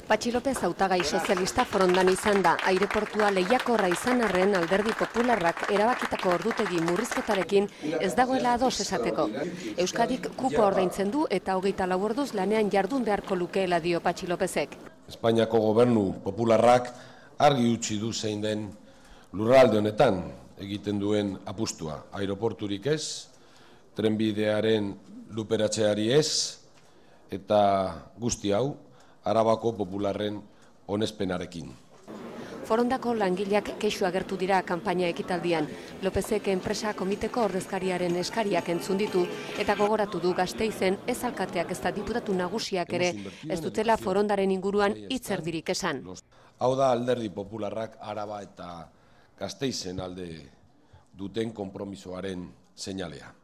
Patxi López hautagai sozialista forondan izan da. Aireportua lehiakorra izan arren Alderdi Popularrak erabakitako ordutegi murrizketarekin ez dagoela ados esateko. Euskadik kupoa ordaintzen du eta 24 orduz lanean jardun beharko lukeela dio Patxi Lópezek. Espainiako gobernu popularrak argi utzi du zein den lurralde honetan egiten duen apustua. Aireporturik ez, trenbidearen luperatzeari ez, eta guzti hau Arabako popularren onespenarekin. Forondako langileak kexu agertu dira kanpaina ekitaldian. Lópezek enpresa komiteko ordezkariaren eskariak entzun ditu eta gogoratu du Gasteizen ez alkateak ezta diputatu nagusiak ere ez dutela forondaren inguruan hitz erdirik esan. Hau da Alderdi Popularrak Araba eta Gasteizen alde duten konpromisoaren seinalea.